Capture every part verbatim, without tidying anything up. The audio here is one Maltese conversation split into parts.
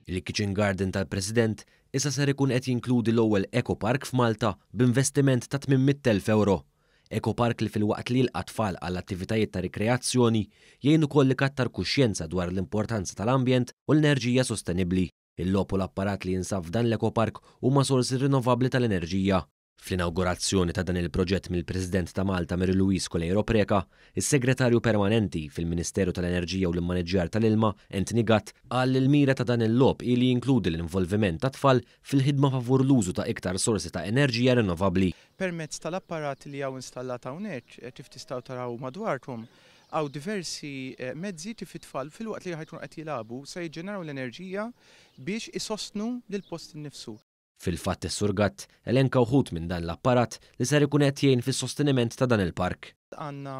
Il-Kitchen Garden tal-President issa ser ikun qed jinkludi l-ewwel Eco Park f'Malta b'investiment ta' tmien mitt elf euro. Eco Park li filwaqt li jilqa' tfal għal attivitajiet ta' rikreazzjoni jgħin ukoll ikattar kuxjenza dwar l-importanza tal-ambjent u l-enerġija sostenibbli. Il-logħob u l-apparat li jinsab f'dan l-Eco Park huma sorsi rinnovabbli tal-enerġija. Fl-inawgurazzjoni ta' dan il-proġett mill-President ta' Malta Mary Louise Coleiro Preca, is-Segretarju Permanenti fil-Ministeru tal-Enerġija u l-Immaniġġjar tal-Ilma, Anthony Gatt, qal li l-mira ta' dan il-logħob hi li jinkludi l-involviment ta' tfal fil-ħidma favur l-użu ta' iktar sorsi ta' enerġija rinnovabbli. Permezz tal-apparat li hawn installat hawnhekk, kif tistgħu taraw madwarkom, hawn diversi mezzi kif it-tfal filwaqt li ħajkunu qed jilagħbu se jiġġeneraw l-enerġija biex isostnu lill-post innifsu. Fil-fatt is-Sur Gatt elenka wħud minn dan l-apparat li ser ikun qed jgħin fis-sosteniment ta' dan il-park. Għandna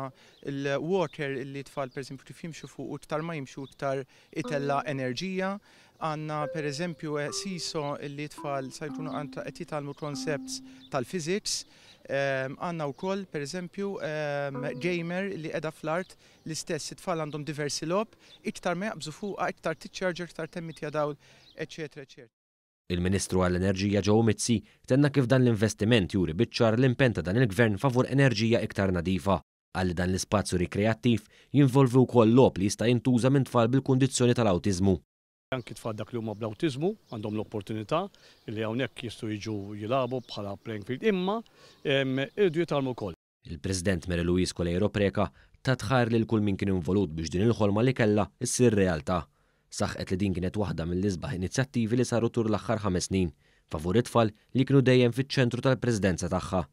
l-water li tfal pereżempju kif jimxu fuq u iktar ma jimxu iktar itella enerġija. Għandna pereżempju seesaw li tfal se jkunu qed jitgħallmu concepts tal-physics. Għandna wkoll pereżempju gamer li qiegħda fl-art l-istess it-tfal għandhom diversi logħob, iktar ma jaqbżu fuqha iktar tiċċarġer, iktar temmitja dawl, eċetera, eċetera. Il-Ministru għall-Enerġija Joe Mizzi tenna kif dan l-investiment juri biċ-ċar l-impenn ta' dan il-gvern favur enerġija iktar nadifa. Qal li dan l-ispazju rikreattiv jinvolvi wkoll logħob li jista' jintuża minn tfal bil-kundizzjoni tal-awtiżmu. Anki tfal dak li huma bl-awtiżmu għandhom l-opportunità li hawnhekk jistgħu jiġu jilagħbu bħala playing field, imma irridu jitgħallmu wkoll. Il-President Mary Louise Coleiro Preca tat ħajr lil kull min kien involut biex din il-ħolma li kellha issir realtà. Saħqet li din kienet waħda mill-isbaħ inizjattivi li saru tul l-aħħar ħames snin, favur it-tfal li kienu dejjem fiċ-ċentru tal-Presidenza tagħha.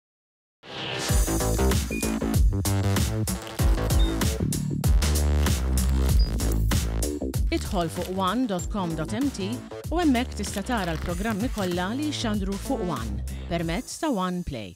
Idħol fuq one dot com dot m t u hemmhekk tista' tara l-programmi kollha li jxandru fuq One permezz ta' One Play.